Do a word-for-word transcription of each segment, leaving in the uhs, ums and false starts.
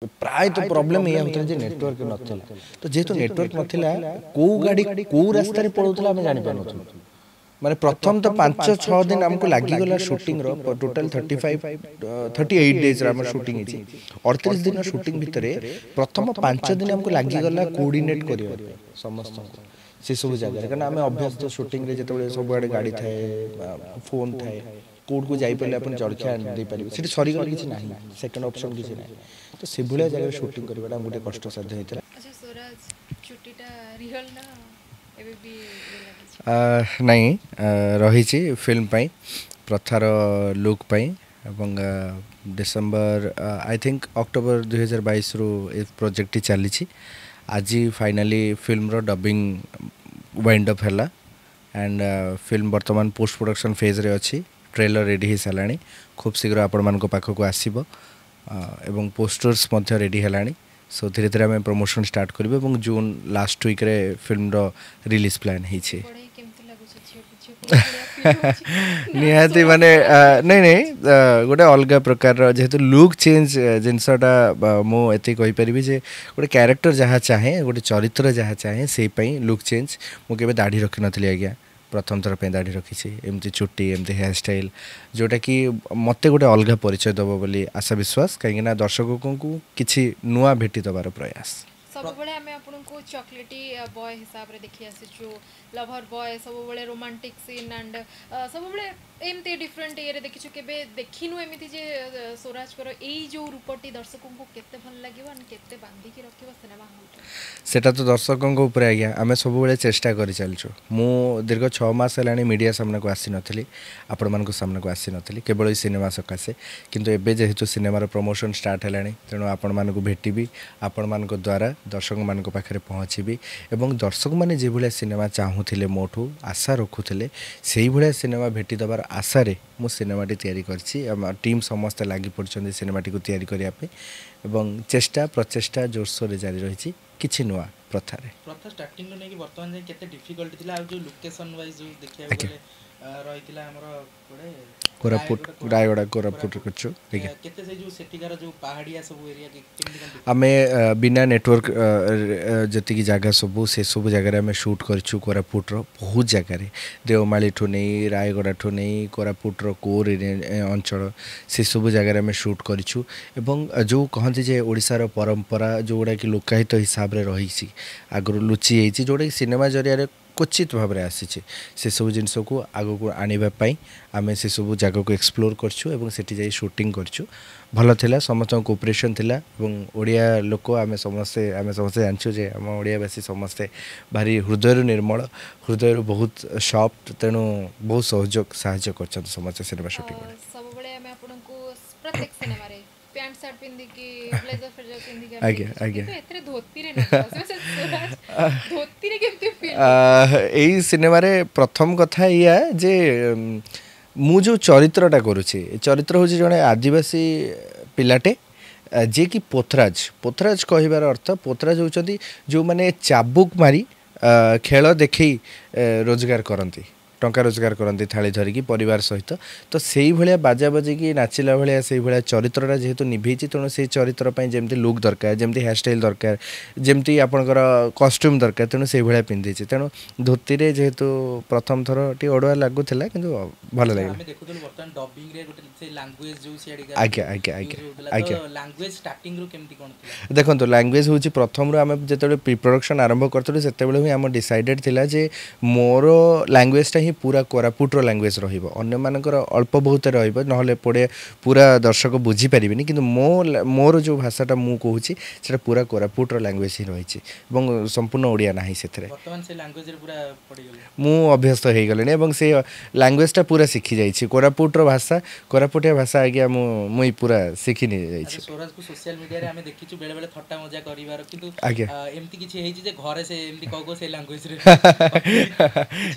ପ୍ରାୟତଃ ପ୍ରୋବ୍ଲେମ୍ ଏଇଆ ହେଉଥିଲା ଯେ ନେଟୱାର୍କ ନଥିଲା ତ ଯେହେତୁ ନେଟୱାର୍କ ନଥିଲା କେଉଁ ଗାଡ଼ି କେଉଁ ରାସ୍ତାରେ ପଳାଉଥିଲା ଆମେ ଜାଣିପାରୁନଥିଲୁ ମାନେ ପ୍ରଥମ ତ ପାଞ୍ଚ ଛଅ ଦିନ ଆମକୁ ଲାଗିଗଲା ସୁଟିଂର total thirty five thirty eight ଡେଜ୍ର ଆମର ସୁଟିଂ ହେଇଛି ଅଠତିରିଶ ଦିନ ସୁଟିଂ ଭିତରେ ପ୍ରଥମ ପାଞ୍ଚ ଦିନ ଆମକୁ ଲାଗିଗଲା କୋଅର୍ଡିନେଟ୍ କରିବା ପାଇଁ ସମସ୍ତଙ୍କୁ ସେସବୁ ଜାଗାରେ କାରଣ ଆମେ ଅଭ୍ୟସ୍ତ ସୁଟିଂରେ ଯେତେବେଳେ ସବୁଆଡ଼େ ଗାଡ଼ି ଥାଏ ଫୋନ୍ ଥାଏ କୋଉଠକୁ ଯାଇପାରିଲେ ଆପଣ ଜଳଖିଆ ଦେଇପାରିବେ ସେଠି ସରିଗଲେ କିଛି ନାହିଁ ସେକେଣ୍ଡ ଅପସନ୍ କିଛି ନାହିଁ ତ ସେଭଳିଆ ଜାଗାରେ ସୁଟିଂ କରିବାଟା ଆମକୁ ଟିକେ କଷ୍ଟସାଧ୍ୟ ହେଇଥିଲା ଆଚ୍ଛା ସ୍ୱରାଜ ଚୁଟିଟା ରିଅଲ ନା ଏବେ ବି ଇଏ ଲାଗିଛି ନାଇଁ ରହିଛି ଫିଲ୍ମ ପାଇଁ ପ୍ରଥାର ଲୁକ୍ ପାଇଁ ଏବଂ ଡିସେମ୍ବର I think October ଦୁଇହଜାର ବାଇଶରୁ ଏ ପ୍ରୋଜେକ୍ଟଟି ଚାଲିଛି ଆଜି ଫାଇନାଲି ଫିଲ୍ମର ଡବିଂ ୱାଇଣ୍ଡ ଅପ୍ ହେଲା ଆଣ୍ଡ ଫିଲ୍ମ ବର୍ତ୍ତମାନ ପୋଷ୍ଟ ପ୍ରଡକ୍ସନ୍ ଫେଜ୍ରେ ଅଛି ଟ୍ରେଲର ରେଡ଼ି ହେଇସାରିଲାଣି ଖୁବ୍ ଶୀଘ୍ର ଆପଣମାନଙ୍କ ପାଖକୁ ଆସିବ ଏବଂ ପୋଷ୍ଟର୍ସ ମଧ୍ୟ ରେଡ଼ି ହେଲାଣି ସୋ ଧୀରେ ଧୀରେ ଆମେ ପ୍ରମୋସନ୍ ଷ୍ଟାର୍ଟ କରିବୁ ଏବଂ ଜୁନ୍ ଲାଷ୍ଟ ୱିକ୍ରେ ଫିଲ୍ମର ରିଲିଜ୍ ପ୍ଲାନ୍ ହେଇଛି ବଢ଼େଇ କେମିତି ଲାଗୁଛି ଝିଅକୁ ଝିଅ ପୁଅ ଭଳିଆ ଫିଲ୍ ହେଉଛି ନିହାତି ମାନେ ନାଇଁ ନାଇଁ ଗୋଟେ ଅଲଗା ପ୍ରକାରର ଯେହେତୁ ଲୁକ୍ ଚେଞ୍ଜ ଜିନିଷଟା ମୁଁ ଏତିକି କହିପାରିବି ଯେ ଗୋଟେ କ୍ୟାରେକ୍ଟର ଯାହା ଚାହେଁ ଗୋଟେ ଚରିତ୍ର ଯାହା ଚାହେଁ ସେଇ ପାଇଁ ଲୁକ୍ ଚେଞ୍ଜ ମୁଁ କେବେ ଦାଢ଼ି ରଖିନଥିଲି ଆଜ୍ଞା ପ୍ରଥମ ଥର ପାଇଁ ଦାଢ଼ି ରଖିଛି ଏମିତି ଚୁଟି ଏମିତି ହେୟାର ଷ୍ଟାଇଲ୍ ଯେଉଁଟାକି ମୋତେ ଗୋଟେ ଅଲଗା ପରିଚୟ ଦେବ ବୋଲି ଆଶା ବିଶ୍ୱାସ କାହିଁକିନା ଦର୍ଶକଙ୍କୁ କିଛି ନୂଆ ଭେଟି ଦେବାର ପ୍ରୟାସ ସବୁବେଳେ ଆମେ ଆପଣଙ୍କୁ ଚକୋଲେଟି ବୟ ହିସାବରେ ଦେଖି ଆସିଛୁ ଲଭର ବୟ ସବୁବେଳେ ରୋମାଣ୍ଟିକ୍ ସିନ୍ ଆଣ୍ଡ ସବୁବେଳେ ଏମିତି ଡିଫରେଣ୍ଟ ଇଏରେ ଦେଖିଛୁ କେବେ ଦେଖିନୁ ଏମିତି ଯେ ସ୍ୱରାଜଙ୍କର ଏଇ ଯେଉଁ ରୂପଟି ଦର୍ଶକଙ୍କୁ କେତେ ଭଲ ଲାଗିବ ଆଣ୍ଡ କେତେ ବାନ୍ଧିକି ରଖିବ ସିନେମା ହଲ୍ରେ ସେଟା ତ ଦର୍ଶକଙ୍କ ଉପରେ ଆଜ୍ଞା ଆମେ ସବୁବେଳେ ଚେଷ୍ଟା କରି ଚାଲିଛୁ ମୁଁ ଦୀର୍ଘ ଛଅ ମାସ ହେଲାଣି ମିଡ଼ିଆ ସାମ୍ନାକୁ ଆସିନଥିଲି ଆପଣମାନଙ୍କ ସାମ୍ନାକୁ ଆସିନଥିଲି କେବଳ ଏଇ ସିନେମା ସକାଶେ କିନ୍ତୁ ଏବେ ଯେହେତୁ ସିନେମାର ପ୍ରମୋସନ୍ ଷ୍ଟାର୍ଟ ହେଲାଣି ତେଣୁ ଆପଣମାନଙ୍କୁ ଭେଟିବି ଆପଣମାନଙ୍କ ଦ୍ୱାରା ଦର୍ଶକମାନଙ୍କ ପାଖରେ ପହଞ୍ଚିବି ଏବଂ ଦର୍ଶକମାନେ ଯେଭଳିଆ ସିନେମା ଚାହୁଁଥିଲେ ମୋଠୁ ଆଶା ରଖୁଥିଲେ ସେଇଭଳିଆ ସିନେମା ଭେଟି ଦେବାର ଆଶାରେ ମୁଁ ସିନେମାଟି ତିଆରି କରିଛି ଆମ ଟିମ୍ ସମସ୍ତେ ଲାଗି ପଡ଼ିଛନ୍ତି ସିନେମାଟିକୁ ତିଆରି କରିବା ପାଇଁ ଏବଂ ଚେଷ୍ଟା ପ୍ରଚେଷ୍ଟା ଜୋରସୋରରେ ଜାରି ରହିଛି କିଛି ନୂଆ ପ୍ରଥାରେ ପ୍ରଥା ଷ୍ଟାର୍ଟିଂରୁ ନେଇକି ବର୍ତ୍ତମାନ ଯାଏଁ କେତେ ଡିଫିକଲ୍ଟି ଥିଲା ଆଉ ଯୋଉ ଲୋକେସନ ୱାଇଜ ଯୋଉ ଦେଖିବାକୁ ଆଜ୍ଞା। ଗଲେ ଆ, ରହିଥିଲା ଆମର କୁଆଡ଼େ କୋରାପୁଟ ରାୟଗଡ଼ା କୋରାପୁଟ କରିଛୁ ଆଜ୍ଞା କେତେ ସେଇ ଯୋଉ ସେଠିକାର ଯୋଉ ପାହାଡ଼ିଆ ସବୁ ଏରିଆ କେମିତି କଣ ଆମେ ଅ, ବିନା ନେଟୱାର୍କ ଯେତିକି ଜାଗା ସବୁ ସେସବୁ ଜାଗାରେ ଆମେ ସୁଟ୍ କରିଛୁ କୋରାପୁଟର ବହୁତ ଜାଗାରେ ଦେଓମାଳିଠୁ ନେଇ ରାୟଗଡ଼ାଠୁ ନେଇ କୋରାପୁଟର କୋର୍ ଅଞ୍ଚଳ ସେସବୁ ଜାଗାରେ ଆମେ ସୁଟ୍ କରିଛୁ ଏବଂ ଯେଉଁ କହନ୍ତି ଯେ ଓଡ଼ିଶାର ପରମ୍ପରା ଯେଉଁଗୁଡ଼ାକି ଲୋକାୟିତ ହିସାବରେ ରହିଛି ଆଗରୁ ଲୁଚି ଯାଇଛି ଯେଉଁଟାକି ସିନେମା ଜରିଆରେ କ୍ୱଚିତ ଭାବରେ ଆସିଛି ସେସବୁ ଜିନିଷକୁ ଆଗକୁ ଆଣିବା ପାଇଁ ଆମେ ସେସବୁ ଜାଗାକୁ ଏକ୍ସପ୍ଲୋର କରିଛୁ ଏବଂ ସେଠି ଯାଇ ସୁଟିଂ କରିଛୁ ଭଲ ଥିଲା ସମସ୍ତଙ୍କ କୋପରେସନ୍ ଥିଲା ଏବଂ ଓଡ଼ିଆ ଲୋକ ଆମେ ସମସ୍ତେ ଆମେ ସମସ୍ତେ ଜାଣିଛୁ ଯେ ଆମ ଓଡ଼ିଆବାସୀ ସମସ୍ତେ ଭାରି ହୃଦୟରୁ ନିର୍ମଳ ହୃଦୟରୁ ବହୁତ ସଫ୍ଟ ତେଣୁ ବହୁତ ସହଯୋଗ ସାହାଯ୍ୟ କରିଛନ୍ତି ସମସ୍ତେ ସିନେମା ସୁଟିଂ ବେଳେ ସବୁବେଳେ ଆମେ ଆପଣଙ୍କୁ ପ୍ରତ୍ୟେକ ସିନେମାରେ ପ୍ୟାଣ୍ଟ ସାର୍ଟ ପିନ୍ଧିକି ବ୍ଲେଜର ଫ୍ଲେଜର ପିନ୍ଧିକି ଆମେ ଆଜ୍ଞା, ଦେଖିଛୁ। ଆଜ୍ଞା। କିନ୍ତୁ ଏଥିରେ ଧୋତିରେ ନଜର ଆସିବ ସେ ସ୍ୱରାଜ ଧୋତିରେ କେମିତି ଫିଲ୍ ଏଇ ସିନେମାରେ ପ୍ରଥମ କଥା ଏଇଆ ଯେ ଉମ୍, ମୁଁ ଯେଉଁ ଚରିତ୍ରଟା କରୁଛି ଏ ଚରିତ୍ର ହେଉଛି ଜଣେ ଆଦିବାସୀ ପିଲାଟେ ଆ, ଯିଏକି ପୋଥରାଜ ପୋଥରାଜ କହିବାର ଅର୍ଥ ପୋଥରାଜ ହେଉଛନ୍ତି ଯେଉଁମାନେ ଚାବୁକ ମାରି ଆ, ଖେଳ ଦେଖେଇ ଏ, ରୋଜଗାର କରନ୍ତି ଟଙ୍କା ରୋଜଗାର କରନ୍ତି ଥାଳି ଧରିକି ପରିବାର ସହିତ ତ ସେଇଭଳିଆ ବାଜା ବଜେଇକି ନାଚିଲା ଭଳିଆ ସେଇଭଳିଆ ଚରିତ୍ରଟା ଯେହେତୁ ନିଭେଇଛି ତେଣୁ ସେଇ ଚରିତ୍ର ପାଇଁ ଯେମିତି ଲୁକ୍ ଦରକାର ଯେମିତି ହେୟାର ଷ୍ଟାଇଲ୍ ଦରକାର ଯେମିତି ଆପଣଙ୍କର କଷ୍ଟ୍ୟୁମ୍ ଦରକାର ତେଣୁ ସେଇଭଳିଆ ପିନ୍ଧିଛି ତେଣୁ ଧୋତିରେ ଯେହେତୁ ପ୍ରଥମ ଥର ଟିକେ ଅଡ଼ୁଆ ଲାଗୁଥିଲା କିନ୍ତୁ ଭଲ ଲାଗିଲା ଆମେ ଦେଖୁଥିଲୁ ବର୍ତ୍ତମାନ ଡବିଂ ରେ ଗୋଟେ ସେ ଲାଙ୍ଗୁଏଜ ଯୋଉ ସିଆଡ଼ିକା ଆଜ୍ଞା ଆଜ୍ଞା ଆଜ୍ଞା ଆଜ୍ଞା ତ ଲାଙ୍ଗୁଏଜ ଷ୍ଟାର୍ଟିଂ ରୁ କେମିତି କଣ ଥିଲା ଦେଖନ୍ତୁ ଲାଙ୍ଗୁଏଜ ହେଉଛି ପ୍ରଥମରୁ ଆମେ ଯେତେବେଳେ ପ୍ରି ପ୍ରଡକ୍ସନ୍ ଆରମ୍ଭ କରିଥିଲୁ ସେତେବେଳେ ହିଁ ଆମ ଡିସାଇଡ଼େଡ଼ ଥିଲା ଯେ ମୋର ଲାଙ୍ଗୁଏଜଟା ହିଁ ପୁରା କୋରାପୁଟର ଲାଙ୍ଗୁଏଜ ରହିବ ଅନ୍ୟମାନଙ୍କର ଅଳ୍ପ ବହୁତ ରହିବ ନହେଲେ ପଡ଼େ ପୁରା ଦର୍ଶକ ବୁଝିପାରିବେନି କିନ୍ତୁ ମୋ ମୋର ଯେଉଁ ଭାଷାଟା ମୁଁ କହୁଛି ସେଇଟା ପୁରା କୋରାପୁଟର ଲାଙ୍ଗୁଏଜ ହିଁ ରହିଛି ଏବଂ ସମ୍ପୂର୍ଣ୍ଣ ଓଡ଼ିଆ ନାହିଁ ସେଥିରେ ବର୍ତ୍ତମାନ ସେ ଲାଙ୍ଗୁଏଜ ରେ ପୁରା ପଡ଼ିଗଲେ ମୁଁ ଅଭ୍ୟସ୍ତ ହେଇଗଲିଣି ଏବଂ ସେ ଲାଙ୍ଗୁଏଜଟା ପୁରା ଶିଖି ଯାଇଛି କୋରାପୁଟର ଭାଷା କୋରାପୁଟିଆ ଭାଷା ଆଜ୍ଞା ମୁଁ ମୁଇଁ ପୁରା ଶିଖି ନେଇଯାଇଛି ଆଚ୍ଛା ସ୍ୱରାଜକୁ ସୋସିଆଲ ମିଡିଆରେ ଆମେ ଦେଖିଛୁ ବେଳେ ବେଳେ ଥଟ୍ଟା ମଜା କରିବାର କିନ୍ତୁ ଆଜ୍ଞା। ଆ, ଏମିତି କିଛି ହେଇଛି ଯେ ଘରେ ସେ ଏମିତି କହୁ କହୁ ସେଇ ଲାଙ୍ଗୁଏଜ ରେ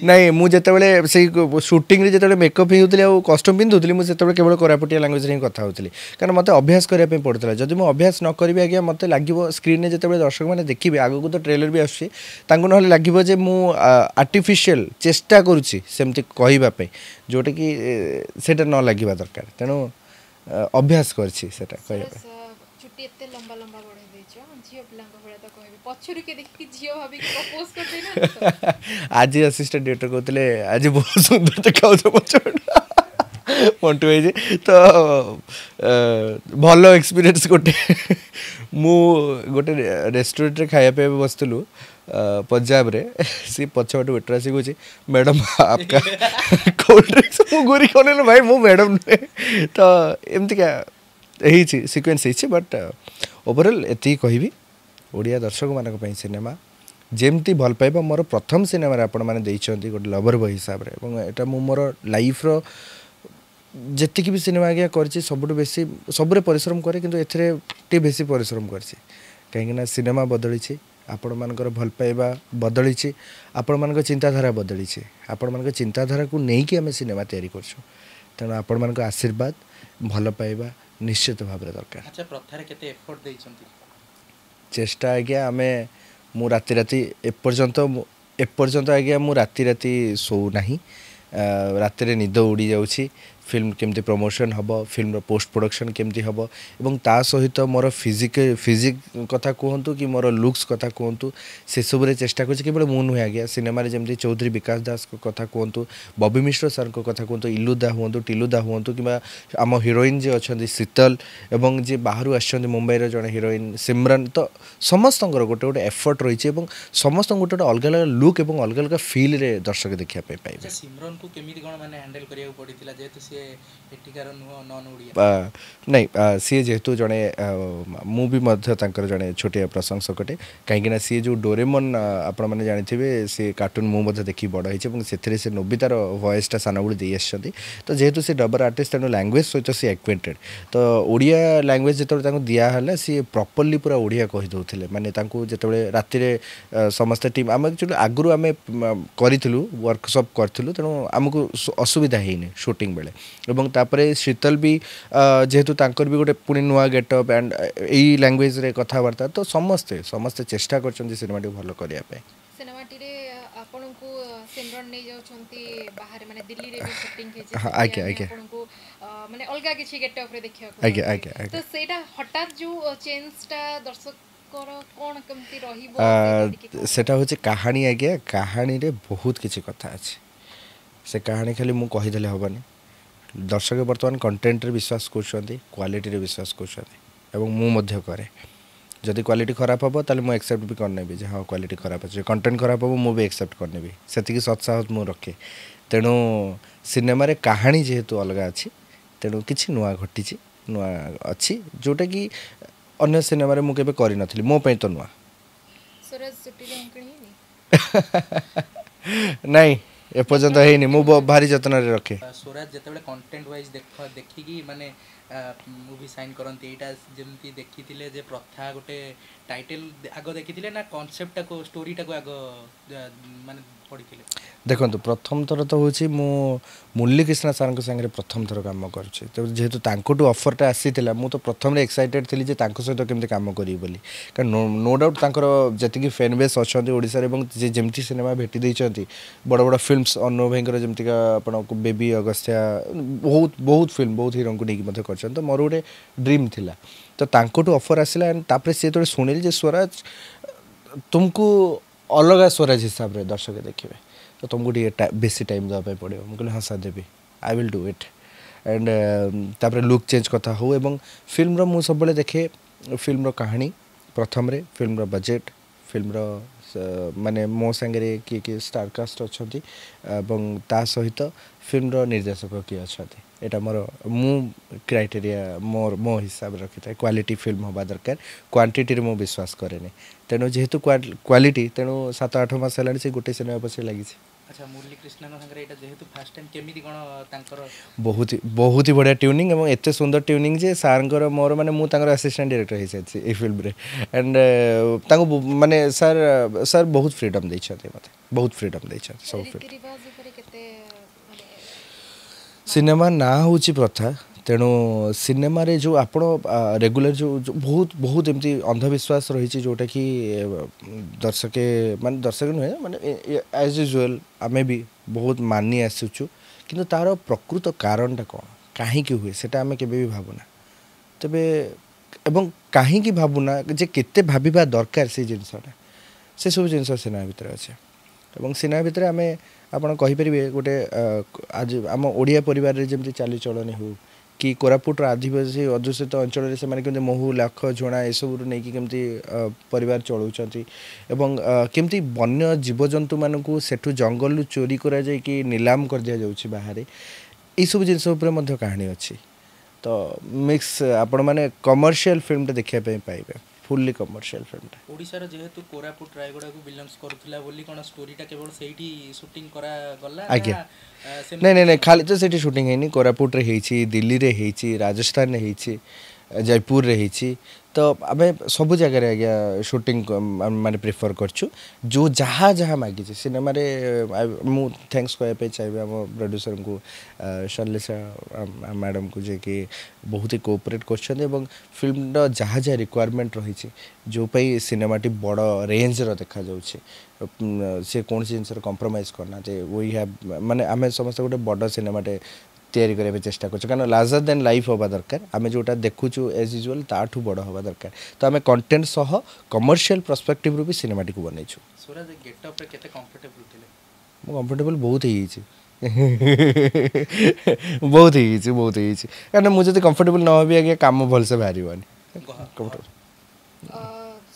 ନାଇଁ ମୁଁ ଯେତେବେଳେ ସେଇ ସୁଟିଂରେ ଯେତେବେଳେ ମେକଅପ୍ ହେଉଥିଲି ଆଉ କଷ୍ଟ୍ୟୁମ୍ ପିନ୍ଧୁଥିଲି ମୁଁ ସେତେବେଳେ କେବଳ କୋରାପୁଟିଆ ଲାଙ୍ଗୁଏଜରେ ହିଁ କଥା ହେଉଥିଲି କାରଣ ମୋତେ ଅଭ୍ୟାସ କରିବା ପାଇଁ ପଡ଼ୁଥିଲା ଯଦି ମୁଁ ଅଭ୍ୟାସ ନ କରିବି ଆଜ୍ଞା ମୋତେ ଲାଗିବ ସ୍କ୍ରିନ୍ରେ ଯେତେବେଳେ ଦର୍ଶକମାନେ ଦେଖିବେ ଆଗକୁ ତ ଟ୍ରେଲର ବି ଆସୁଛି ତାଙ୍କୁ ନହେଲେ ଲାଗିବ ଯେ ମୁଁ ଆର୍ଟିଫିସିଆଲ ଚେଷ୍ଟା କରୁଛି ସେମିତି କହିବା ପାଇଁ ଯେଉଁଟାକି ଏ, ସେଇଟା ନ ଲାଗିବା ଦରକାର ତେଣୁ ଆ, ଅଭ୍ୟାସ କରିଛି ସେଇଟା କହିବା ପାଇଁ ସ୍ୱରାଜ ଚୁଟି ଚୁଟି ଏତେ ଲମ୍ବା ଲମ୍ବା ବଢେଇ ଦେଇଛ ଝିଅ ପିଲାଙ୍କ ଭଳିଆ ତ କହିବି ପଛରୁ କିଏ ଦେଖିକି ଝିଅ ଭାବିକି ପ୍ରପୋଜ କରିଦେଇନାହାନ୍ତି ତ ଆଜି ଆସିଷ୍ଟାଣ୍ଟ ଡିରେକ୍ଟର କହୁଥିଲେ ଆଜି ବହୁତ ସୁନ୍ଦର ଦେଖାଯାଉଛ ପଛପଟ ମଣ୍ଟୁ ହେଇଛି ତ ଅ, ଭଲ ଏକ୍ସପିରିଏନ୍ସ ଗୋଟେ ମୁଁ ଗୋଟେ ରେଷ୍ଟୁରାଣ୍ଟରେ ଖାଇବା ପାଇଁ ବସିଥିଲୁ ଅ, ପଞ୍ଜାବରେ ସିଏ ପଛପଟୁ ୱେଟର ଆସିକି କହୁଛି ମ୍ୟାଡ଼ାମ୍ आपका କୋଲ୍ଡ ଡ୍ରିଙ୍କସ୍ ମୁଁ ଘୁରିକି ଅନେଇଲି ଭାଇ ମୁଁ ମ୍ୟାଡ଼ାମ୍ ନୁହେଁ ତ ଏମିତିକା ହେଇଛି ସିକ୍ୱେନ୍ସ ହେଇଛି ବଟ୍ ଓଭରଅଲ୍ ଏତିକି କହିବି ଓଡ଼ିଆ ଦର୍ଶକମାନଙ୍କ ପାଇଁ ସିନେମା ଯେମିତି ଭଲ ପାଇବା ମୋର ପ୍ରଥମ ସିନେମାରେ ଆପଣମାନେ ଦେଇଛନ୍ତି ଗୋଟେ ଲଭର ବୟ ହିସାବରେ ଏବଂ ଏଇଟା ମୁଁ ମୋର ଲାଇଫ୍ର ଯେତିକି ବି ସିନେମା ଆଜ୍ଞା କରିଛି ସବୁଠୁ ବେଶୀ ସବୁରେ ପରିଶ୍ରମ କରେ କିନ୍ତୁ ଏଥିରେ ଟିକେ ବେଶୀ ପରିଶ୍ରମ କରିଛି କାହିଁକିନା ସିନେମା ବଦଳିଛି ଆପଣମାନଙ୍କର ଭଲ ପାଇବା ବଦଳିଛି ଆପଣମାନଙ୍କ ଚିନ୍ତାଧାରା ବଦଳିଛି ଆପଣମାନଙ୍କ ଚିନ୍ତାଧାରାକୁ ନେଇକି ଆମେ ସିନେମା ତିଆରି କରୁଛୁ ତେଣୁ ଆପଣମାନଙ୍କ ଆଶୀର୍ବାଦ ଭଲ ପାଇବା ନିଶ୍ଚିତ ଭାବରେ ଦରକାର ଆଚ୍ଛା ପ୍ରଥାରେ କେତେ ଏଫର୍ଟ ଦେଇଛନ୍ତି ଚେଷ୍ଟା ଆଜ୍ଞା ଆମେ ମୁଁ ରାତି ରାତି ଏପର୍ଯ୍ୟନ୍ତ ମୁଁ ଏପର୍ଯ୍ୟନ୍ତ ଆଜ୍ଞା ମୁଁ ରାତି ରାତି ଶୋଉନାହିଁ ଆ, ରାତିରେ ନିଦ ଉଡ଼ି ଯାଉଛି ଫିଲ୍ମ କେମିତି ପ୍ରମୋସନ୍ ହେବ ଫିଲ୍ମର ପୋଷ୍ଟ ପ୍ରଡ଼କ୍ସନ୍ କେମିତି ହେବ ଏବଂ ତା ସହିତ ମୋର ଫିଜିକ୍ ଫିଜିକ୍ କଥା କୁହନ୍ତୁ କି ମୋର ଲୁକ୍ସ କଥା କୁହନ୍ତୁ ସେସବୁରେ ଚେଷ୍ଟା କରୁଛି କେବଳ ମୁଁ ନୁହେଁ ଆଜ୍ଞା ସିନେମାରେ ଯେମିତି ଚୌଧୁରୀ ବିକାଶ ଦାସଙ୍କ କଥା କୁହନ୍ତୁ ବବି ମିଶ୍ର ସାର୍ଙ୍କ କଥା କୁହନ୍ତୁ ଇଲୁଦା ହୁଅନ୍ତୁ ଟିଲୁଦା ହୁଅନ୍ତୁ କିମ୍ବା ଆମ ହିରୋଇନ୍ ଯିଏ ଅଛନ୍ତି ଶୀତଲ ଏବଂ ଯିଏ ବାହାରୁ ଆସିଛନ୍ତି ମୁମ୍ବାଇର ଜଣେ ହିରୋଇନ୍ ସିମରନ୍ ତ ସମସ୍ତଙ୍କର ଗୋଟେ ଗୋଟେ ଏଫର୍ଟ ରହିଛି ଏବଂ ସମସ୍ତଙ୍କୁ ଗୋଟେ ଗୋଟେ ଅଲଗା ଅଲଗା ଲୁକ୍ ଏବଂ ଅଲଗା ଅଲଗା ଫିଲ୍ରେ ଦର୍ଶକ ଦେଖିବା ପାଇଁ ପାଇବେ ଆଚ୍ଛା ସିମରନକୁ କେମିତି କ'ଣ ମାନେ ହ୍ୟାଣ୍ଡେଲ କରିବାକୁ ପଡ଼ିଥିଲା ଯେହେତୁ ସିଏ ଏଠିକାର ନୁହଁ ନନ୍ ଓଡ଼ିଆ ଆ, ନାଇଁ ଆ, ସିଏ ଯେହେତୁ ଜଣେ ଆ, ମୁଁ ବି ମଧ୍ୟ ତାଙ୍କର ଜଣେ ଛୋଟିଆ ପ୍ରଶଂସକଟେ କାହିଁକିନା ସିଏ ଯେଉଁ ଡୋରେମନ୍ ଆ, ଆପଣମାନେ ଜାଣିଥିବେ ସେ କାର୍ଟୁନ୍ ମୁଁ ମଧ୍ୟ ଦେଖି ବଡ଼ ହେଇଛି ଏବଂ ସେଥିରେ ସେ ନୋବିତାର ଭଏସ୍ଟା ସାନବେଳୁ ଦେଇ ଆସିଛନ୍ତି ତ ଯେହେତୁ ସେ ଡବର ଆର୍ଟିଷ୍ଟ ତେଣୁ ଲାଙ୍ଗୁଏଜ୍ ସହିତ ସେ ଆକ୍ୱେଣ୍ଟେଡ଼ ତ ଓଡ଼ିଆ ଲାଙ୍ଗୁଏଜ୍ ଯେତେବେଳେ ତାଙ୍କୁ ଦିଆହେଲା ସିଏ ପ୍ରପରଲି ପୁରା ଓଡ଼ିଆ କହିଦେଉଥିଲେ ମାନେ ତାଙ୍କୁ ଯେତେବେଳେ ରାତିରେ ଆ, ସମସ୍ତେ ଟିମ୍ ଆମେ ଆକ୍ଚୁଆଲି ଆଗରୁ ଆମେ ମ, କରିଥିଲୁ ୱାର୍କସପ୍ କରିଥିଲୁ ତେଣୁ ଆମକୁ ସୁ- ଅସୁବିଧା ହେଇନି ସୁଟିଂ ବେଳେ ଏବଂ ତାପରେ ଶୀତଲ ବି ଆ, ଯେହେତୁ ତାଙ୍କର ବି ଗୋଟେ ପୁଣି ନୂଆ ଗେଟଅପ୍ ଆଣ୍ଡ ଏଇ ଲାଙ୍ଗୁଏଜରେ କଥାବାର୍ତ୍ତା ତ ସମସ୍ତେ ସମସ୍ତେ ଚେଷ୍ଟା କରିଛନ୍ତି ସିନେମାଟିକୁ ଭଲ କରିବା ପାଇଁ ସିନେମାଟିରେ ଆପଣଙ୍କୁ ସିମରନ୍ ନେଇଯାଉଛନ୍ତି ବାହାରେ ମାନେ ଦିଲ୍ଲୀରେ ବି ସୁଟିଂ ହେଇଛି ହଁ, ସେଠି ଆଜ୍ଞା, ଆମେ ଆଜ୍ଞା। ଆପଣଙ୍କୁ ଅ, ମାନେ ଅଲଗା କିଛି ଗେଟଅପ୍ରେ ଦେଖିବାକୁ ଆଜ୍ଞା, ପାଉଛେ। ଆଜ୍ଞା, ଆଜ୍ଞା। ତ ସେଇଟା ହଠାତ୍ ଯୋଉ ଚେଞ୍ଜଟା ଦର୍ଶକର କ'ଣ କେମିତି ରହିବ ଆ, ସେଇଟା ଟିକେ କୁହନ୍ତୁ। ସେଟା ହେଉଛି କାହାଣୀ ଆଜ୍ଞା କାହାଣୀରେ ବହୁତ କିଛି କଥା ଅଛି ସେ କାହାଣୀ ଖାଲି ମୁଁ କହିଦେଲେ ହେବନି ଦର୍ଶକ ବର୍ତ୍ତମାନ କଣ୍ଟେଣ୍ଟରେ ବିଶ୍ୱାସ କରୁଛନ୍ତି କ୍ୱାଲିଟିରେ ବିଶ୍ୱାସ କରୁଛନ୍ତି ଏବଂ ମୁଁ ମଧ୍ୟ କରେ ଯଦି କ୍ୱାଲିଟି ଖରାପ ହେବ ତାହେଲେ ମୁଁ ଆକ୍ସେପ୍ଟ ବି କରିନେବି ଯେ ହଁ କ୍ୱାଲିଟି ଖରାପ ଅଛି କଣ୍ଟେଣ୍ଟ ଖରାପ ହେବ ମୁଁ ବି ଆକ୍ସେପ୍ଟ କରିନେବି ସେତିକି ସତ୍ସାହସ ମୁଁ ରଖେ ତେଣୁ ସିନେମାରେ କାହାଣୀ ଯେହେତୁ ଅଲଗା ଅଛି ତେଣୁ କିଛି ନୂଆ ଘଟିଛି ନୂଆ ଅଛି ଯେଉଁଟାକି ଅନ୍ୟ ସିନେମାରେ ମୁଁ କେବେ କରିନଥିଲି ମୋ ପାଇଁ ତ ନୂଆ ସ୍ୱରାଜ ଚୁଟିରେ ଅଙ୍କିଣି ହେଇନି ନାଇଁ ଏପର୍ଯ୍ୟନ୍ତ ହେଇନି ମୁଁ ବ- ଭାରି ଯତ୍ନରେ ରଖେ ସ୍ୱରାଜ ଯେତେବେଳେ କଣ୍ଟେଣ୍ଟ ୱାଇଜ୍ ଦେଖ ଦେଖିକି ମାନେ ମୁଭି ସାଇନ୍ କରନ୍ତି ଏଇଟା ଯେମିତି ଦେଖିଥିଲେ ଯେ ପ୍ରଥା ଗୋଟେ ଟାଇଟେଲ ଆଗ ଦେଖିଥିଲେ ନା କନସେପ୍ଟଟାକୁ ଷ୍ଟୋରିଟାକୁ ଆଗ ଆ, ମାନେ ପଢ଼ିଥିଲେ ଦେଖନ୍ତୁ ପ୍ରଥମ ଥର ତ ହେଉଛି ମୁଁ ମୁରଲୀକ୍ରିଷ୍ଣା ସାର୍ଙ୍କ ସାଙ୍ଗରେ ପ୍ରଥମ ଥର କାମ କରୁଛି ତ ଯେହେତୁ ତାଙ୍କଠୁ ଅଫର୍ଟା ଆସିଥିଲା ମୁଁ ତ ପ୍ରଥମରେ ଏକ୍ସାଇଟେଡ଼ ଥିଲି ଯେ ତାଙ୍କ ସହିତ କେମିତି କାମ କରିବି ବୋଲି କାରଣ ନୋ ଡାଉଟ୍ ତାଙ୍କର ଯେତିକି ଫ୍ୟାନ୍ ବେସ୍ ଅଛନ୍ତି ଓଡ଼ିଶାରେ ଏବଂ ଯେ ଯେମିତି ସିନେମା ଭେଟି ଦେଇଛନ୍ତି ବଡ଼ ବଡ଼ ଫିଲ୍ମସ୍ ଅନୁଭବ ଭାଇଙ୍କର ଯେମିତିକା ଆପଣଙ୍କୁ ବେବି ଅଗସ୍ତ୍ୟା ବହୁତ ବହୁତ ଫିଲ୍ମ ବହୁତ ହିରୋଙ୍କୁ ନେଇକି ମଧ୍ୟ କରିଛନ୍ତି ତ ମୋର ଗୋଟେ ଡ୍ରିମ୍ ଥିଲା ତ ତାଙ୍କଠୁ ଅଫର୍ ଆସିଲା ଆଣ୍ଡ ତାପରେ ସେ ଯେତେବେଳେ ଶୁଣିଲି ଯେ ସ୍ୱରାଜ ତୁମକୁ ଅଲଗା ସ୍ୱରାଜ ହିସାବରେ ଦର୍ଶକ ଦେଖିବେ ତ ତୁମକୁ ଟିକେ ଟା- ବେଶୀ ଟାଇମ୍ ଦେବା ପାଇଁ ପଡ଼ିବ ମୁଁ କହିଲି ହଁ ସାର୍ ଦେବି I will do it and ତାପରେ ଲୁକ୍ ଚେଞ୍ଜ କଥା ହଉ ଏବଂ ଫିଲ୍ମର ମୁଁ ସବୁବେଳେ ଦେଖେ ଫିଲ୍ମର କାହାଣୀ ପ୍ରଥମରେ ଫିଲ୍ମର ବଜେଟ୍ ଫିଲ୍ମର ସ- ମାନେ ମୋ ସାଙ୍ଗରେ କିଏ କିଏ ଷ୍ଟାରକାଷ୍ଟ ଅଛନ୍ତି ଏବଂ ତା ସହିତ ଫିଲ୍ମର ନିର୍ଦ୍ଦେଶକ କିଏ ଅଛନ୍ତି ଏଇଟା ମୋର ମୁଁ କ୍ରାଇଟେରିଆ ମୋର ମୋ ହିସାବରେ ରଖିଥାଏ କ୍ୱାଲିଟି ଫିଲ୍ମ ହେବା ଦରକାର କ୍ୱାଣ୍ଟିଟିରେ ମୁଁ ବିଶ୍ୱାସ କରେନି ତେଣୁ ଯେହେତୁ କ୍ୱାଲିଟି ତେଣୁ ସାତ ଆଠ ମାସ ହେଲାଣି ସେ ଗୋଟେ ସିନେମା ପଛରେ ଲାଗିଛି ଆଚ୍ଛା ମୁରଲୀ କୃଷ୍ଣଙ୍କ ସାଙ୍ଗରେ ଏଇଟା ଯେହେତୁ ଫାର୍ଷ୍ଟ ଟାଇମ୍ କେମିତି କ'ଣ ତାଙ୍କର ବହୁତ ହି ବହୁତ ହି ବଢ଼ିଆ ଟ୍ୟୁନିଂ ଏବଂ ଏତେ ସୁନ୍ଦର ଟ୍ୟୁନିଂ ଯେ ସାର୍ଙ୍କର ମୋର ମାନେ ମୁଁ ତାଙ୍କର ଆସିଷ୍ଟାଣ୍ଟ ଡିରେକ୍ଟର ହେଇସାରିଛି ଏଇ ଫିଲ୍ମରେ ଆଣ୍ଡ ତାଙ୍କୁ ବ- ମାନେ ସାର୍ ସାର୍ ବହୁତ ଫ୍ରିଡ଼ମ୍ ଦେଇଛନ୍ତି ମୋତେ ବହୁତ ଫ୍ରିଡ଼ମ୍ ଦେଇଛନ୍ତି ସବୁ ଫିଲ୍ମ ରୀତି ରିବାଜ ଉପରେ କେତେ ମାନେ ସିନେମା ନାଁ ହେଉଛି ପ୍ରଥା ତେଣୁ ସିନେମାରେ ଯେଉଁ ଆପଣ ରେଗୁଲାର ଯେଉଁ ଯେଉଁ ବହୁତ ବହୁତ ଏମିତି ଅନ୍ଧବିଶ୍ୱାସ ରହିଛି ଯେଉଁଟାକି ଦର୍ଶକେ ମାନେ ଦର୍ଶକ ନୁହେଁ ମାନେ ଆଜ୍ ୟୁଜୁଆଲ୍ ଆମେ ବି ବହୁତ ମାନି ଆସୁଛୁ କିନ୍ତୁ ତା'ର ପ୍ରକୃତ କାରଣଟା କ'ଣ କାହିଁକି ହୁଏ ସେଇଟା ଆମେ କେବେ ବି ଭାବୁନା ତେବେ ଏବଂ କାହିଁକି ଭାବୁନା ଯେ କେତେ ଭାବିବା ଦରକାର ସେଇ ଜିନିଷଟା ସେସବୁ ଜିନିଷ ସିନେମା ଭିତରେ ଅଛି ଏବଂ ସିନେମା ଭିତରେ ଆମେ ଆପଣ କହିପାରିବେ ଗୋଟେ ଆଜି ଆମ ଓଡ଼ିଆ ପରିବାରରେ ଯେମିତି ଚାଲିଚଳଣି ହେଉ କି କୋରାପୁଟର ଆଦିବାସୀ ଅଧ୍ୟୁଷିତ ଅଞ୍ଚଳରେ ସେମାନେ କେମିତି ମହୁ ଲାଖ ଝୁଣା ଏସବୁରୁ ନେଇକି କେମିତି ପରିବାର ଚଳାଉଛନ୍ତି ଏବଂ କେମିତି ବନ୍ୟ ଜୀବଜନ୍ତୁମାନଙ୍କୁ ସେଠୁ ଜଙ୍ଗଲରୁ ଚୋରି କରାଯାଇକି ନିଲାମ କରିଦିଆଯାଉଛି ବାହାରେ ଏଇସବୁ ଜିନିଷ ଉପରେ ମଧ୍ୟ କାହାଣୀ ଅଛି ତ ମିକ୍ସ ଆପଣମାନେ କମର୍ସିଆଲ ଫିଲ୍ମଟା ଦେଖିବା ପାଇଁ ପାଇବେ ଫୁଲ୍ଲି କମର୍ସିଆଲ ଫିଲ୍ମଟା ଓଡ଼ିଶାର ଯେହେତୁ କୋରାପୁଟ ରାୟଗଡ଼ାକୁ ବିଲଙ୍ଗସ୍ କରୁଥିଲା ବୋଲି କ'ଣ ଷ୍ଟୋରିଟା କେବଳ ସେଇଠି ସୁଟିଂ କରାଗଲା ଆଜ୍ଞା ନାଇଁ ନାଇଁ ନାଇଁ ଖାଲି ତ ସେଇଠି ସୁଟିଂ ହେଇନି କୋରାପୁଟରେ ହେଇଛି ଦିଲ୍ଲୀରେ ହେଇଛି ରାଜସ୍ଥାନରେ ହେଇଛି ଜୟପୁରରେ ହେଇଛି ତ ଆମେ ସବୁ ଜାଗାରେ ଆଜ୍ଞା ସୁଟିଂ ମାନେ ପ୍ରିଫର୍ କରିଛୁ ଯେଉଁ ଯାହା ଯାହା ମାଗିଛି ସିନେମାରେ ମୁଁ thanks କହିବା ପାଇଁ ଚାହିଁବି ଆମ ପ୍ରଡ୍ୟୁସରଙ୍କୁ ଶୈଲେଶା ମ୍ୟାଡ଼ାମକୁ ଯିଏକି ବହୁତ ହି କୋଅପରେଟ୍ କରିଛନ୍ତି ଏବଂ ଫିଲ୍ମର ଯାହା ଯାହା ରିକ୍ୱାରମେଣ୍ଟ ରହିଛି ଯେଉଁ ପାଇଁ ସିନେମାଟି ବଡ଼ ରେଞ୍ଜର ଦେଖାଯାଉଛି ସେ କୌଣସି ଜିନିଷରେ କମ୍ପ୍ରମାଇଜ୍ କରିନାହାନ୍ତି we have ମାନେ ଆମେ ସମସ୍ତେ ଗୋଟେ ବଡ଼ ସିନେମାଟେ ତିଆରି କରିବା ପାଇଁ ଚେଷ୍ଟା କରୁଛୁ କାରଣ ଲାର୍ଜର ଦେନ୍ ଲାଇଫ୍ ହେବା ଦରକାର ଆମେ ଯେଉଁଟା ଦେଖୁଛୁ ଏଜ୍ ୟୁଜୁଆଲ୍ ତାଠୁ ବଡ଼ ହେବା ଦରକାର ତ ଆମେ କଣ୍ଟେଣ୍ଟ ସହ କମର୍ସିଆଲ ପର୍ସପେକ୍ଟିଭରୁ ବି ସିନେମାଟିକୁ ବନେଇଛୁ ସ୍ୱରାଜ ଗେଟଅପ୍ରେ କେତେ କମ୍ଫର୍ଟେବଲ୍ ଥିଲେ ମୁଁ କମ୍ଫର୍ଟେବଲ୍ ବହୁତ ହେଇଯାଇଛି ବହୁତ ହେଇଯାଇଛି ବହୁତ ହେଇଯାଇଛି କାରଣ ମୁଁ ଯଦି କମ୍ଫର୍ଟେବଲ୍ ନ ହେବି ଆଜ୍ଞା କାମ ଭଲସେ ବାହାରିବନି କମ୍ଫର୍ଟେବଲ୍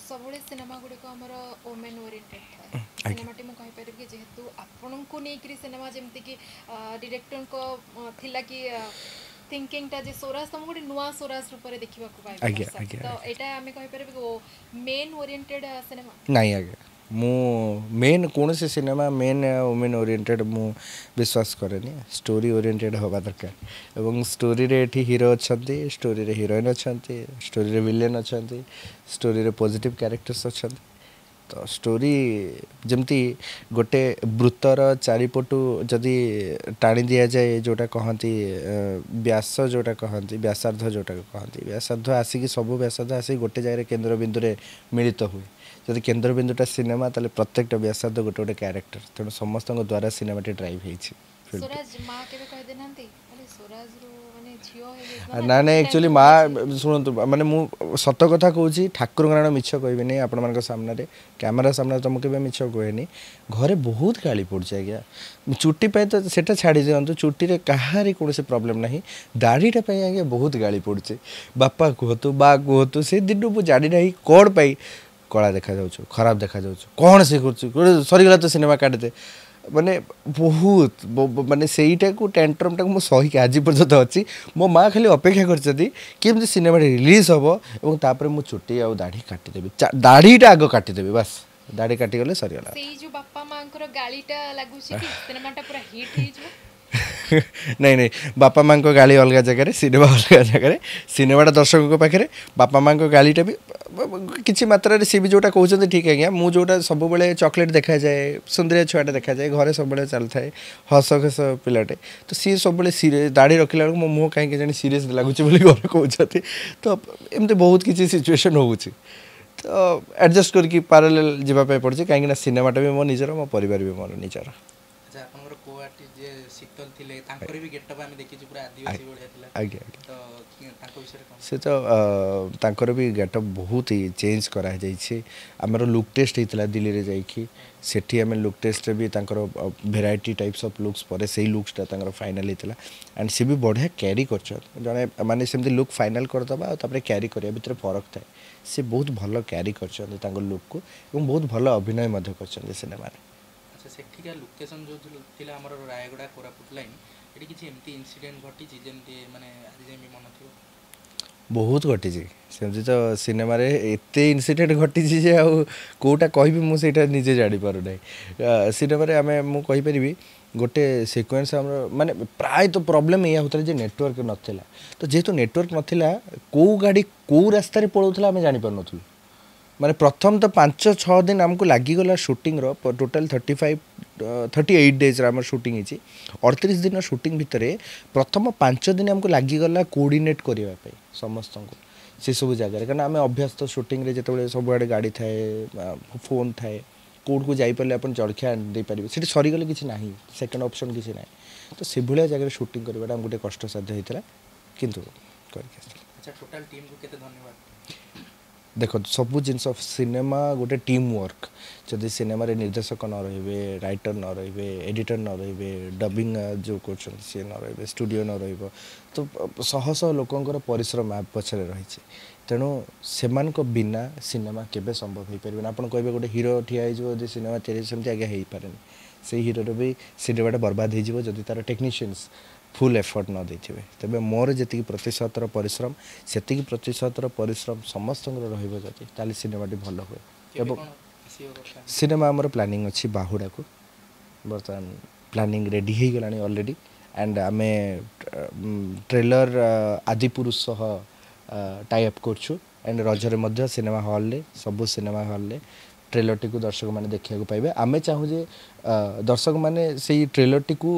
ସବୁବେଳେ ସିନେମା ଗୁଡ଼ିକ ଆମର ଓମେନ୍ ଓରିଏଣ୍ଟେଡ୍ ଥାଏ ସିନେମାଟି ମୁଁ କହିପାରିବି କି ଯେହେତୁ ଆପଣଙ୍କୁ ନେଇକରି ସିନେମା ଯେମିତିକି ଡିରେକ୍ଟରଙ୍କ ଥିଲା କି ଥିଙ୍କିଂଟା ଯେ ସ୍ୱରାଜ ତମକୁ ଗୋଟେ ନୂଆ ସ୍ୱରାଜ ରୂପରେ ଦେଖିବାକୁ ପାଇବେ ତ ଏଇଟା ଆମେ କହିପାରିବୁ କି ମେନ୍ ଓରିଏଣ୍ଟେଡ୍ ସିନେମା ନାଇଁ ଆଜ୍ଞା ମୁଁ ମେନ୍ କୌଣସି ସିନେମା ମେନ୍ ଓମେନ୍ ଓରିଏଣ୍ଟେଡ୍ ମୁଁ ବିଶ୍ୱାସ କରେନି ଷ୍ଟୋରି ଓରିଏଣ୍ଟେଡ୍ ହେବା ଦରକାର ଏବଂ ଷ୍ଟୋରିରେ ଏଠି ହିରୋ ଅଛନ୍ତି ଷ୍ଟୋରିରେ ହିରୋଇନ୍ ଅଛନ୍ତି ଷ୍ଟୋରିରେ ଭିଲେନ୍ ଅଛନ୍ତି ଷ୍ଟୋରିରେ ପଜିଟିଭ୍ କ୍ୟାରେକ୍ଟର୍ସ ଅଛନ୍ତି ତ ଷ୍ଟୋରି ଯେମିତି ଗୋଟେ ବୃତ୍ତର ଚାରିପଟୁ ଯଦି ଟାଣି ଦିଆଯାଏ ଯେଉଁଟା କହନ୍ତି ବ୍ୟାସ ଯେଉଁଟା କହନ୍ତି ବ୍ୟାସାର୍ଦ୍ଧ ଯେଉଁଟା କହନ୍ତି ବ୍ୟାସାର୍ଦ୍ଧ ଆସିକି ସବୁ ବ୍ୟାସାର୍ଦ୍ଧ ଆସିକି ଗୋଟେ ଜାଗାରେ କେନ୍ଦ୍ରବିନ୍ଦୁରେ ମିଳିତ ହୁଏ ଯଦି କେନ୍ଦ୍ରବିନ୍ଦୁଟା ସିନେମା ତାହେଲେ ପ୍ରତ୍ୟେକଟା ବ୍ୟାସାର୍ଦ୍ଧ ଗୋଟେ ଗୋଟେ କ୍ୟାରେକ୍ଟର ତେଣୁ ସମସ୍ତଙ୍କ ଦ୍ୱାରା ସିନେମାଟି ଡ୍ରାଇଭ୍ ହେଇଛି ସ୍ୱରାଜ ମା କେବେ କହିଦେନାହାନ୍ତି ଆରେ ସ୍ୱରାଜରୁ ମାନେ ଝିଅ ହେଇଯାଇଥିଲା ନା ନାଇଁ ଆକ୍ଚୁଆଲି ମା ଶୁଣନ୍ତୁ ମାନେ ମୁଁ ସତ କଥା କହୁଛି ଠାକୁରଙ୍କ ନାଁ ମିଛ କହିବିନି ଆପଣମାନଙ୍କ ସାମ୍ନାରେ କ୍ୟାମେରା ସାମ୍ନାରେ ତ ମୁଁ କେବେ ମିଛ କୁହେନି ଘରେ ବହୁତ ଗାଳି ପଡ଼ୁଛି ଆଜ୍ଞା ଚୁଟି ପାଇଁ ତ ସେଟା ଛାଡ଼ି ଦିଅନ୍ତୁ ଚୁଟିରେ କାହାରି କୌଣସି ପ୍ରୋବ୍ଲେମ୍ ନାହିଁ ଦାଢ଼ିଟା ପାଇଁ ଆଜ୍ଞା ବହୁତ ଗାଳି ପଡ଼ୁଛି ବାପା କୁହନ୍ତୁ ମା କୁହନ୍ତୁ ସେ ଦିନୁ ମୁଁ ଜାଣିନାହିଁ କ'ଣ ପାଇଁ କଳା ଦେଖାଯାଉଛୁ ଖରାପ ଦେଖାଯାଉଛୁ କ'ଣ ସେ କରୁଛୁ ସରିଗଲା ତ ସିନେମା କାଟିଦେ ମାନେ ବହୁତ ମାନେ ସେଇଟାକୁ ଟ୍ୟାଣ୍ଟ୍ରମ୍ଟାକୁ ମୁଁ ସହିକି ଆଜି ପର୍ଯ୍ୟନ୍ତ ଅଛି ମୋ ମା ଖାଲି ଅପେକ୍ଷା କରିଛନ୍ତି କେମିତି ସିନେମାଟି ରିଲିଜ୍ ହେବ ଏବଂ ତାପରେ ମୁଁ ଚୁଟି ଆଉ ଦାଢ଼ି କାଟିଦେବି ଦାଢ଼ିଟା ଆଗ କାଟିଦେବି ବାସ୍ ଦାଢ଼ି କାଟିଗଲେ ସରିଗଲା ସେଇ ଯୋଉ ବାପା ମାଙ୍କର ଗାଳିଟା ଲାଗୁଛି କି ସିନେମାଟା ପୁରା ହିଟ୍ ହେଇଯିବ ନାଇଁ ନାଇଁ ବାପା ମାଆଙ୍କ ଗାଳି ଅଲଗା ଜାଗାରେ ସିନେମା ଅଲଗା ଜାଗାରେ ସିନେମାଟା ଦର୍ଶକଙ୍କ ପାଖରେ ବାପା ମାଆଙ୍କ ଗାଳିଟା ବି କିଛି ମାତ୍ରାରେ ସିଏ ବି ଯେଉଁଟା କହୁଛନ୍ତି ଠିକ୍ ଆଜ୍ଞା ମୁଁ ଯେଉଁଟା ସବୁବେଳେ ଚକୋଲେଟ୍ ଦେଖାଯାଏ ସୁନ୍ଦରିଆ ଛୁଆଟା ଦେଖାଯାଏ ଘରେ ସବୁବେଳେ ଚାଲିଥାଏ ହସ ଖସ ପିଲାଟେ ତ ସିଏ ସବୁବେଳେ ସିରିୟସ୍ ଦାଢ଼ି ରଖିଲା ବେଳକୁ ମୋ ମୁହଁ କାହିଁକି ଜାଣି ସିରିୟସ୍ ଲାଗୁଛି ବୋଲି ଘରେ କହୁଛନ୍ତି ତ ଏମିତି ବହୁତ କିଛି ସିଚୁଏସନ୍ ହେଉଛି ତ ଆଡ଼ଜଷ୍ଟ କରିକି ପାରାଲେଲ୍ ଯିବା ପାଇଁ ପଡ଼ୁଛି କାହିଁକିନା ସିନେମାଟା ବି ମୋ ନିଜର ମୋ ପରିବାର ବି ମୋର ନିଜର ଆଚ୍ଛା ଆପଣଙ୍କର କୋ ଆର୍ଟିଷ୍ଟ ଯିଏ ଶୀତଲ ଥିଲେ ତାଙ୍କର ବି ଗେଟଅପ୍ ଆମେ ଦେଖିଛୁ ପୁରା ଆଦିବାସୀ ଭଳିଆ ଥିଲା ଆଜ୍ଞା ଆଜ୍ଞା ତ ତାଙ୍କ ବିଷୟରେ କ'ଣ ସେ ତ ତାଙ୍କର ବି ଗେଟଅପ୍ ବହୁତ ହି ଚେଞ୍ଜ କରାଯାଇଛି ଆମର ଲୁକ୍ ଟେଷ୍ଟ ହେଇଥିଲା ଦିଲ୍ଲୀରେ ଯାଇକି ସେଠି ଆମେ ଲୁକ୍ ଟେଷ୍ଟରେ ବି ତାଙ୍କର ଭେରାଇଟି ଟାଇପ୍ସ ଅଫ୍ ଲୁକ୍ସ ପରେ ସେଇ ଲୁକ୍ସଟା ତାଙ୍କର ଫାଇନାଲ୍ ହେଇଥିଲା ଆଣ୍ଡ ସେ ବି ବଢ଼ିଆ କ୍ୟାରି କରିଛନ୍ତି ଜଣେ ମାନେ ସେମିତି ଲୁକ୍ ଫାଇନାଲ୍ କରିଦେବା ଆଉ ତାପରେ କ୍ୟାରି କରିବା ଭିତରେ ଫରକ ଥାଏ ସେ ବହୁତ ଭଲ କ୍ୟାରି କରିଛନ୍ତି ତାଙ୍କ ଲୁକ୍କୁ ଏବଂ ବହୁତ ଭଲ ଅଭିନୟ ମଧ୍ୟ କରିଛନ୍ତି ସିନେମାରେ ଆଚ୍ଛା ସେଠିକା ଲୋକେସନ୍ ଯେଉଁ ଥିଲା ଆମର ରାୟଗଡ଼ା କୋରାପୁଟ ଲାଇନ୍ ଏଠି କିଛି ଏମିତି ଇନସିଡେଣ୍ଟ ଘଟିଛି ଯେମିତି ମାନେ ଆଜି ଯାଏଁ ବି ମନେ ଥିବ ବହୁତ ଘଟିଛି ସେମିତି ତ ସିନେମାରେ ଏତେ ଇନସିଡେଣ୍ଟ ଘଟିଛି ଯେ ଆଉ କେଉଁଟା କହିବି ମୁଁ ସେଇଟା ନିଜେ ଜାଣିପାରୁନାହିଁ ସିନେମାରେ ଆମେ ମୁଁ କହିପାରିବି ଗୋଟେ ସିକ୍ୱେନ୍ସ ଆମର ମାନେ ପ୍ରାୟତଃ ପ୍ରୋବ୍ଲେମ୍ ଏଇଆ ହେଉଥିଲା ଯେ ନେଟୱାର୍କ ନଥିଲା ତ ଯେହେତୁ ନେଟୱାର୍କ ନଥିଲା କେଉଁ ଗାଡ଼ି କେଉଁ ରାସ୍ତାରେ ପଳାଉଥିଲା ଆମେ ଜାଣିପାରୁନଥିଲୁ ମାନେ ପ୍ରଥମ ତ ପାଞ୍ଚ ଛଅ ଦିନ ଆମକୁ ଲାଗିଗଲା ସୁଟିଂର total thirty five thirty eight ଡେଜ୍ର ଆମର ସୁଟିଂ ହେଇଛି ଅଠତିରିଶ ଦିନ ସୁଟିଂ ଭିତରେ ପ୍ରଥମ ପାଞ୍ଚ ଦିନ ଆମକୁ ଲାଗିଗଲା କୋଅର୍ଡ଼ିନେଟ୍ କରିବା ପାଇଁ ସମସ୍ତଙ୍କୁ ସେସବୁ ଜାଗାରେ କାରଣ ଆମେ ଅଭ୍ୟସ୍ତ ସୁଟିଂରେ ଯେତେବେଳେ ସବୁଆଡ଼େ ଗାଡ଼ି ଥାଏ ଫୋନ୍ ଥାଏ କେଉଁଠିକୁ ଯାଇପାରିଲେ ଆପଣ ଜଳଖିଆ ଦେଇପାରିବେ ସେଠି ସରିଗଲେ କିଛି ନାହିଁ ସେକେଣ୍ଡ ଅପସନ୍ କିଛି ନାହିଁ ତ ସେଭଳିଆ ଜାଗାରେ ସୁଟିଂ କରିବାଟା ଆମକୁ ଟିକେ କଷ୍ଟସାଧ୍ୟ ହେଇଥିଲା କିନ୍ତୁ କରିକି ଆସିଥିଲା ଆଚ୍ଛା ଟୋଟାଲ ଟିମ୍କୁ କେତେ ଧନ୍ୟବାଦ ଦେଖନ୍ତୁ ସବୁ ଜିନିଷ ସିନେମା ଗୋଟେ ଟିମ୍ ୱାର୍କ ଯଦି ସିନେମାରେ ନିର୍ଦ୍ଦେଶକ ନ ରହିବେ ରାଇଟର ନ ରହିବେ ଏଡ଼ିଟର ନ ରହିବେ ଡବିଂ ଯେଉଁ କରୁଛନ୍ତି ସିଏ ନ ରହିବେ ଷ୍ଟୁଡ଼ିଓ ନ ରହିବ ତ ଶହ ଶହ ଲୋକଙ୍କର ପରିଶ୍ରମ ଆ ପଛରେ ରହିଛି ତେଣୁ ସେମାନଙ୍କ ବିନା ସିନେମା କେବେ ସମ୍ଭବ ହେଇପାରିବନି ଆପଣ କହିବେ ଗୋଟେ ହିରୋ ଠିଆ ହେଇଯିବ ଯଦି ସିନେମା ତିଆରି ସେମିତି ଆଜ୍ଞା ହେଇପାରେନି ସେଇ ହିରୋର ବି ସିନେମାଟା ବର୍ବାଦ ହେଇଯିବ ଯଦି ତା'ର ଟେକ୍ନିସିଆନ୍ସ ଫୁଲ୍ ଏଫର୍ଟ ନ ଦେଇଥିବେ ତେବେ ମୋର ଯେତିକି ପ୍ରତିଶତର ପରିଶ୍ରମ ସେତିକି ପ୍ରତିଶତର ପରିଶ୍ରମ ସମସ୍ତଙ୍କର ରହିବ ଯଦି ତାହେଲେ ସିନେମାଟି ଭଲ ହୁଏ କେବେ ଏବଂ କ'ଣ ଆସିବ କଥା ସିନେମା ଆମର ପ୍ଲାନିଂ ଅଛି ବାହୁଡ଼ାକୁ ବର୍ତ୍ତମାନ ପ୍ଲାନିଂ ରେଡ଼ି ହେଇଗଲାଣି ଅଲରେଡ଼ି ଆଣ୍ଡ ଆମେ ଟ୍ରେଲର ଆଦିପୁରୁଷ ସହ ଟାଇ ଅପ୍ କରୁଛୁ ଆଣ୍ଡ ରଜରେ ମଧ୍ୟ ସିନେମା ହଲ୍ରେ ସବୁ ସିନେମା ହଲ୍ରେ ଟ୍ରେଲରଟିକୁ ଦର୍ଶକମାନେ ଦେଖିବାକୁ ପାଇବେ ଆମେ ଚାହୁଁ ଯେ ଅ, ଦର୍ଶକମାନେ ସେଇ ଟ୍ରେଲରଟିକୁ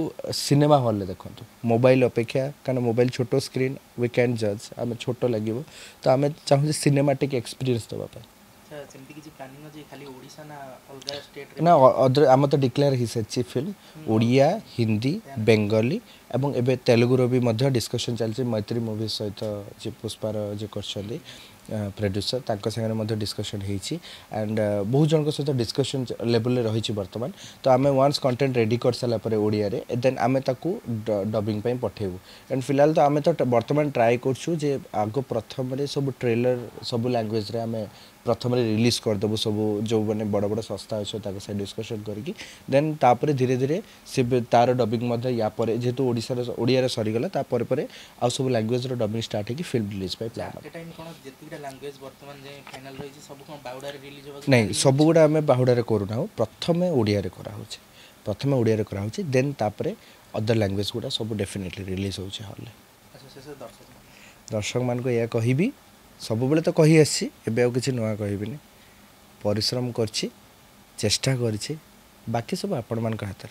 ସିନେମା ହଲ୍ରେ ଦେଖନ୍ତୁ ମୋବାଇଲ ଅପେକ୍ଷା କାରଣ ମୋବାଇଲ ଛୋଟ ସ୍କ୍ରିନ୍ we can ଜଜ୍ ଆମେ ଛୋଟ ଲାଗିବ ତ ଆମେ ଚାହୁଁ ଯେ ସିନେମାଟିକ୍ ଏକ୍ସପିରିଏନ୍ସ ଦେବା ପାଇଁ ଆଚ୍ଛା ସେମିତି କିଛି ପ୍ଲାନିଂ ଅଛି ଖାଲି ଓଡ଼ିଶା ନା ଅଲଗା ଷ୍ଟେଟ୍ରେ ନା ଅଦର ଆମର ତ ଡିକ୍ଲେୟାର ହେଇସାରିଛି ଫିଲ୍ମ ଓଡ଼ିଆ ହିନ୍ଦୀ ବେଙ୍ଗଲୀ ଏବଂ ଏବେ ତେଲୁଗୁର ବି ମଧ୍ୟ ଡିସ୍କସନ୍ ଚାଲିଛି ମୈତ୍ରୀ ମୁଭି ସହିତ ଯିଏ ପୁଷ୍ପାର ଯିଏ କରିଛନ୍ତି ପ୍ରଡ୍ୟୁସର ତାଙ୍କ ସାଙ୍ଗରେ ମଧ୍ୟ ଡିସ୍କସନ୍ ହେଇଛି ଆଣ୍ଡ ବହୁତ ଜଣଙ୍କ ସହିତ ଡିସ୍କସନ୍ ଲେଭେଲରେ ରହିଛି ବର୍ତ୍ତମାନ ତ ଆମେ ୱାନ୍ସ କଣ୍ଟେଣ୍ଟ ରେଡ଼ି କରିସାରିଲା ପରେ ଓଡ଼ିଆରେ ଦେନ୍ ଆମେ ତାକୁ ଡବିଂ ପାଇଁ ପଠେଇବୁ ଆଣ୍ଡ ଫିଲହାଲ ତ ଆମେ ତ ବର୍ତ୍ତମାନ ଟ୍ରାଏ କରୁଛୁ ଯେ ଆଗ ପ୍ରଥମରେ ସବୁ ଟ୍ରେଲର ସବୁ ଲାଙ୍ଗୁଏଜରେ ଆମେ ପ୍ରଥମରେ ରିଲିଜ୍ କରିଦେବୁ ସବୁ ଯେଉଁମାନେ ବଡ଼ ବଡ଼ ସଂସ୍ଥା ଅଛି ତାଙ୍କ ସହିତ ଡିସ୍କସନ୍ କରିକି ଦେନ୍ ତାପରେ ଧୀରେ ଧୀରେ ସେ ବି ତାର ଡବିଂ ମଧ୍ୟ ୟା ପରେ ଯେହେତୁ ଓଡ଼ିଶାର ଓଡ଼ିଆରେ ସରିଗଲା ତାପରେ ପରେ ଆଉ ସବୁ ଲାଙ୍ଗୁଏଜର ଡବିଂ ଷ୍ଟାର୍ଟ ହେଇକି ଫିଲ୍ମ ରିଲିଜ୍ ପାଇଁ ପ୍ଲାନ୍ ଆଟ୍ ଏ ଟାଇମ୍ କ'ଣ ଯେତିକିଟା ଲାଙ୍ଗୁଏଜ ବର୍ତ୍ତମାନ ଯାଏଁ ଫାଇନାଲ ରହିଛି ସବୁ କ'ଣ ବାହୁଡ଼ାରେ ରିଲିଜ୍ ହେବାକୁ ନାଇଁ ସବୁଗୁଡ଼ା ଆମେ ବାହୁଡ଼ାରେ କରୁନାହୁଁ ପ୍ରଥମେ ଓଡ଼ିଆରେ କରାହେଉଛି ପ୍ରଥମେ ଓଡ଼ିଆରେ କରାହେଉଛି ଦେନ୍ ତାପରେ ଅଦର ଲାଙ୍ଗୁଏଜ ଗୁଡ଼ା ସବୁ ଡେଫିନେଟଲି ରିଲିଜ୍ ହେଉଛି ହଲ୍ରେ ଆଚ୍ଛା ଶେଷ ଦର୍ଶକ ଦର୍ଶକମାନଙ୍କୁ ଏହା କହିବି ସବୁବେଳେ ତ କହି ଆସିଛି ଏବେ ଆଉ କିଛି ନୂଆ କହିବିନି ପରିଶ୍ରମ କରିଛି ଚେଷ୍ଟା କରିଛି ବାକି ସବୁ ଆପଣମାନଙ୍କ ହାତରେ